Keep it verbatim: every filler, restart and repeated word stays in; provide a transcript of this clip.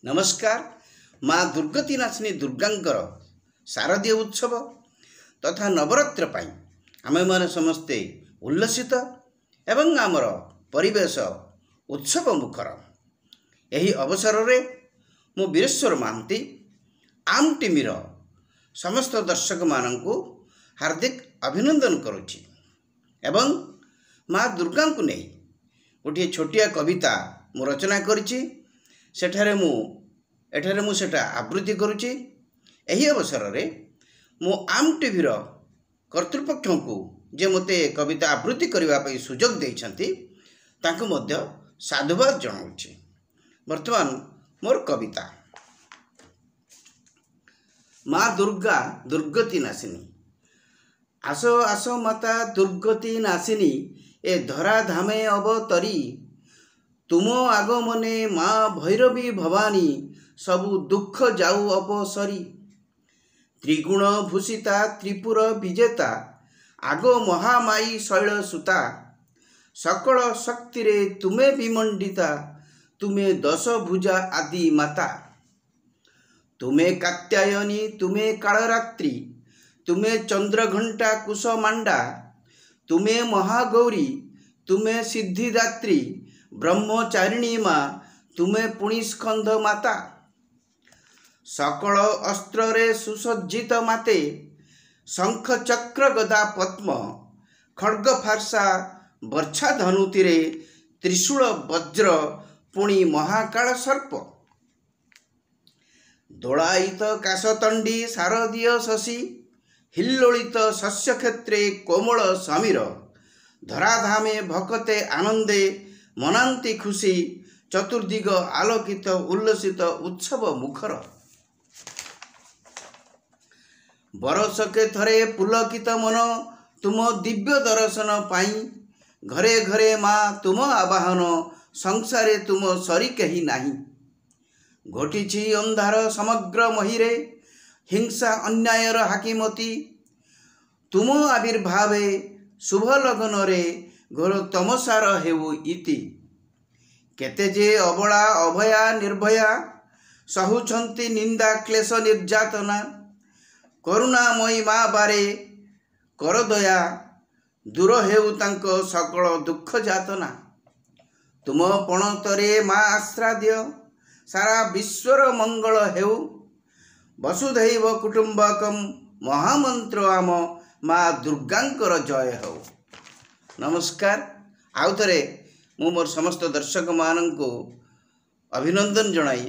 ନମସ୍କାର। ମା ଦୁର୍ଗତି ନାଶିନୀ ଦୁର୍ଗାଙ୍କର ଶାରଦୀୟ ଉତ୍ସବ ତଥା ନବରାତ୍ର ପାଇଁ ଆମେମାନେ ସମସ୍ତେ ଉଲ୍ଲସିତ ଏବଂ ଆମର ପରିବେଶ ଉତ୍ସବ ମୁଖର। ଏହି ଅବସରରେ ମୁଁ ବୀରେଶ୍ୱର ମହାନ୍ତି ଆମ୍ ଟିଭିର ସମସ୍ତ ଦର୍ଶକମାନଙ୍କୁ ହାର୍ଦ୍ଦିକ ଅଭିନନ୍ଦନ କରୁଛି ଏବଂ ମା ଦୁର୍ଗାଙ୍କୁ ନେଇ ଗୋଟିଏ ଛୋଟିଆ କବିତା ମୁଁ ରଚନା କରିଛି। ସେଠାରେ ମୁଁ ଏଠାରେ ମୁଁ ସେଟା ଆବୃତ୍ତି କରୁଛି। ଏହି ଅବସରରେ ମୁଁ ଆମ୍ ଟିଭିର କର୍ତ୍ତୃପକ୍ଷଙ୍କୁ, ଯେ ମୋତେ କବିତା ଆବୃତ୍ତି କରିବା ପାଇଁ ସୁଯୋଗ ଦେଇଛନ୍ତି, ତାଙ୍କୁ ମଧ୍ୟ ସାଧୁବାଦ ଜଣାଉଛି। ବର୍ତ୍ତମାନ ମୋର କବିତା, ମା ଦୁର୍ଗା ଦୁର୍ଗତି ନାଶିନୀ। ଆସ ଆସ ମାତା ଦୁର୍ଗତି ନାଶିନୀ, ଏ ଧରା ଧାମେ ଅବତରୀ। ତୁମ ଆଗମନେ ମା ଭୈରବୀ ଭବାନୀ, ସବୁ ଦୁଃଖ ଯାଉ ଅପସରି। ତ୍ରିଗୁଣ ଭୂଷିତା ତ୍ରିପୁର ବିଜେତା, ଆଗ ମହାମାୟୀ ଶୈଳସୁତା। ସକଳ ଶକ୍ତିରେ ତୁମେ ବିମଣ୍ଡିତା, ତୁମେ ଦଶଭୁଜା ଆଦି ମାତା। ତୁମେ କାତ୍ୟାୟନୀ, ତୁମେ କାଳରାତ୍ରି, ତୁମେ ଚନ୍ଦ୍ରଘଣ୍ଟା କୁଶମାଣ୍ଡା। ତୁମେ ମହାଗୌରୀ, ତୁମେ ସିଦ୍ଧିଦାତ୍ରୀ, ବ୍ରହ୍ମଚାରିଣୀ ମା, ତୁମେ ପୁଣି ସ୍କନ୍ଦ ମାତା। ସକଳ ଅସ୍ତ୍ରରେ ସୁସଜ୍ଜିତ ମାତେ, ଶଙ୍ଖ ଚକ୍ର ଗଦା ପଦ୍ମ, ଖଡ଼୍ଗ ଫାର୍ସା ବର୍ଚ୍ଛା ଧନୁତିରେ, ତ୍ରିଶୂଳ ବଜ୍ର ପୁଣି ମହାକାଳ ସର୍ପ। ଦୋଳାୟିତ କାଶତଣ୍ଡି ଶାରଦୀୟ ଶଶୀ, ହିଲ୍ଲୋଳିତ ଶସ୍ୟକ୍ଷେତ୍ରେ କୋମଳ ସମୀର। ଧରାଧାମେ ଭକତେ ଆନନ୍ଦେ ମନାନ୍ତି ଖୁସି, ଚତୁର୍ଦିଗ ଆଲୋକିତ ଉଲ୍ଲସିତ ଉତ୍ସବ ମୁଖର। ବରଷକେ ଥରେ ପୁଲକିତ ମନ ତୁମ ଦିବ୍ୟ ଦର୍ଶନ ପାଇଁ। ଘରେ ଘରେ ମା ତୁମ ଆବାହନ, ସଂସାରେ ତୁମ ସରି କେହି ନାହିଁ। ଘଟିଛି ଅନ୍ଧାର ସମଗ୍ର ମହିରେ, ହିଂସା ଅନ୍ୟାୟର ହାକିମତି। ତୁମ ଆବିର୍ଭାବେ ଶୁଭ ଲଗ୍ନରେ ଘୋର ତମସାର ହେଉ ଇତି। କେତେ ଯେ ଅବଳା ଅଭୟା ନିର୍ଭୟା ସହୁଛନ୍ତି ନିନ୍ଦା କ୍ଲେଶ ନିର୍ଯାତନା। କରୁଣାମୟୀ ମା ବାରେ କର ଦୟା, ଦୂର ହେଉ ତାଙ୍କ ସକଳ ଦୁଃଖ ଯାତନା। ତୁମ ପଣତରେ ମା ଆଶ୍ରା ଦିଅ, ସାରା ବିଶ୍ୱର ମଙ୍ଗଳ ହେଉ। ବସୁଧୈବ କୁଟୁମ୍ବକମ୍ ମହାମନ୍ତ୍ର ଆମ ମା ଦୁର୍ଗାଙ୍କର ଜୟ ହେଉ। ନମସ୍କାର। ଆଉ ଥରେ ମୁଁ ମୋର ସମସ୍ତ ଦର୍ଶକମାନଙ୍କୁ ଅଭିନନ୍ଦନ ଜଣାଇ